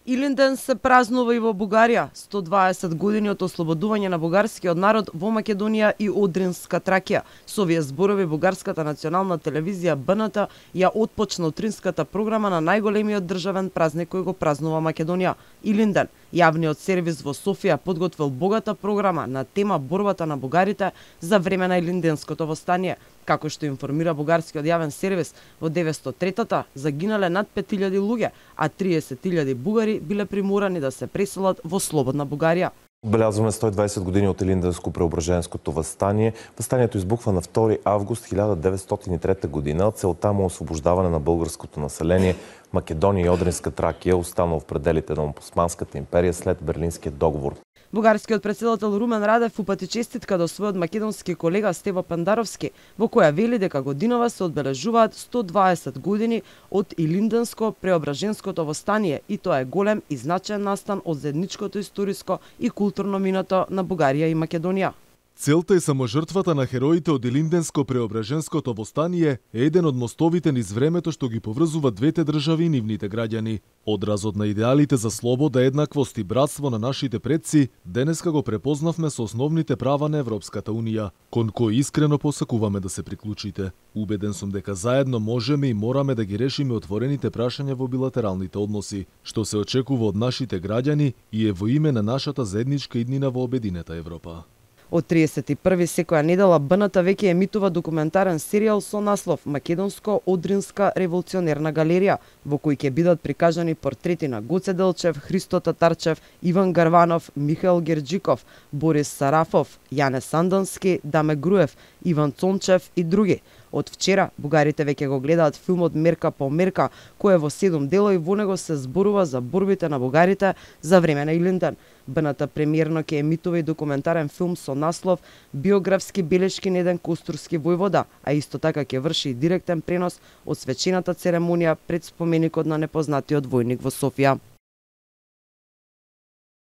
Илинден се празнува и во Бугарија. 120 години од ослободување на бугарскиот народ во Македонија и Одринска Тракија. Со овие зборови бугарската национална телевизија БНТ ја отпочна утринската програма на најголемиот државен празник кој го празнува Македонија. Илинден, јавниот сервис во Софија подготвил богата програма на тема борбата на бугарите за време на Илинденското востание. Како што информира бугарскиот јавен сервис, во 903-та загинале над 5000 луѓе, а 30.000 бугари биле приморани да се преселат во слободна Бугарија. Отбелязваме 120 години од Илинденско-Преображенското востание. Востанието избухва на 2 август 1903 година. Целта му освобождаване на българското население. Македонија и Одринска Тракија останал в пределите на Османската империја след Берлинскиот договор. Бугарскиот председател Румен Радев упати честитка до својот македонски колега Стево Пендаровски, во која вели дека годинова се одбележуваат 120 години од Илинденско-Преображенското востание и тоа е голем и значаен настан од заедничкото историско и културно минато на Бугарија и Македонија. Целта и саможртвата на хероите од Илинденско-Преображенското востание е еден од мостовите низ времето што ги поврзува двете држави и нивните граѓани. Одразот на идеалите за слобода, еднаквост и братство на нашите предци, денеска го препознавме со основните права на Европската Унија, кон кои искрено посакуваме да се приклучите. Убеден сум дека заедно можеме и мораме да ги решиме отворените прашања во билатералните односи, што се очекува од нашите граѓани и е во име на нашата заедничка иднина во обединета Европа. Од 31 секоја недела БНТ веќе емитува документарен серијал со наслов Македонско-Одринска револуционерна галерија, во кој ќе бидат прикажани портрети на Гоце Делчев, Христо Татарчев, Иван Гарванов, Михаил Герџиков, Борис Сарафов, Јане Сандански, Даме Груев, Иван Цончев и други. Од вчера бугарите веќе го гледаат филмот Мерка по мерка, кој е во 7 дела и во него се зборува за борбите на бугарите за време на Илинден. БНТ премиерно ќе емитува и документарен филм со наслов Биографски белешки на еден костурски војвода, а исто така ќе врши и директен пренос од свечената церемонија пред споменикот на непознатиот војник во Софија.